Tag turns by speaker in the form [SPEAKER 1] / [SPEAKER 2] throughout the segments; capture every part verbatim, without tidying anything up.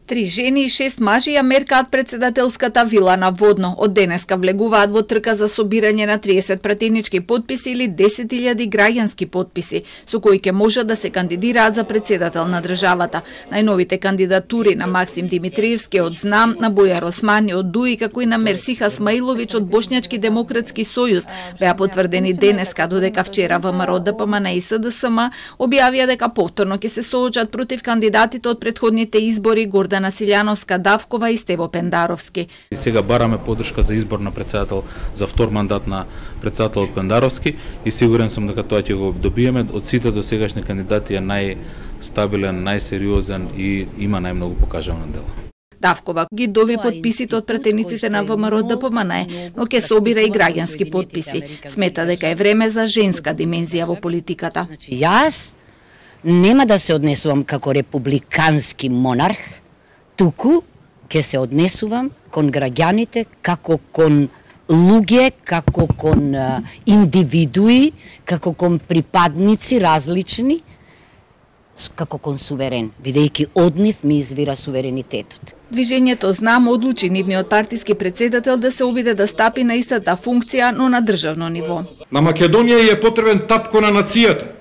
[SPEAKER 1] Три жени и шест мажи ја меркаат председателската вила на Водно. Од денеска влегуваат во трка за собирање на триесет пратенички потписи или десет илјади граѓански потписи, со кои ќе можат да се кандидираат за председател на државата. Најновите кандидатури на Максим Димитриевски од Знам, на Бојар Османи од Дуи, како и на Мерсиха Смаиловиќ од Бошњачки демократски сојуз беа потврдени денеска, додека вчера ВМРО, ДПМН и СДСМ објавија дека повторно ќе се соочат против кандидатите од претходните избори Гордана Силјановска Давкова и Стево Пендаровски.
[SPEAKER 2] И сега бараме поддршка за избор на председател за втор мандат на председател Пендаровски и сигурен сум дека тоа ќе го добиеме. Од сите досегашни кандидати е најстабилен, најсериозен и има најмногу покажано дело.
[SPEAKER 1] Давкова ги доби потписите од пратениците на ВМРО ДПМН, но ќе собира и граѓански потписи. Смета дека е време за женска димензија во политиката.
[SPEAKER 3] Јас нема да се однесувам како републикански монарх, туку ќе се однесувам кон граѓаните како кон луѓе, како кон а, индивидуи, како кон припадници различни, како кон суверен, бидејќи од нив ми извира суверенитетот.
[SPEAKER 1] Движењето Знам одлучи нивниот партиски председател да се обиде да стапи на истата функција, но на државно ниво.
[SPEAKER 4] На Македонија е потребен татко на нацијата,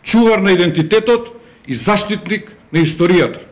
[SPEAKER 4] чувар на идентитетот и заштитник на историјата.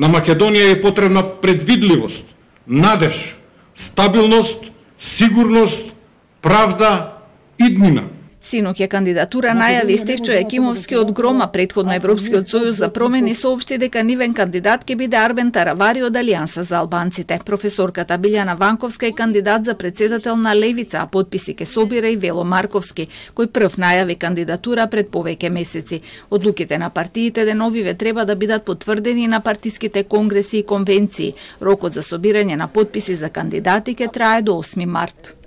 [SPEAKER 4] На Македонија е потребна предвидливост, надеж, стабилност, сигурност, правда, иднина.
[SPEAKER 1] Синоќа кандидатура најави Стефчо Екимовски од Грома. Предходно Европскиот сојуз за промени соопшти дека нивен кандидат ќе биде Арбен Таравари од Алијанса за албанците. Професорката Билјана Ванковска е кандидат за председател на Левица, а потписи ке собира и Вело Марковски, кој прв најави кандидатура пред повеќе месеци. Одлуките на партиите деновиве треба да бидат потврдени на партиските конгреси и конвенции. Рокот за собирање на потписи за кандидати ке трае до осми март.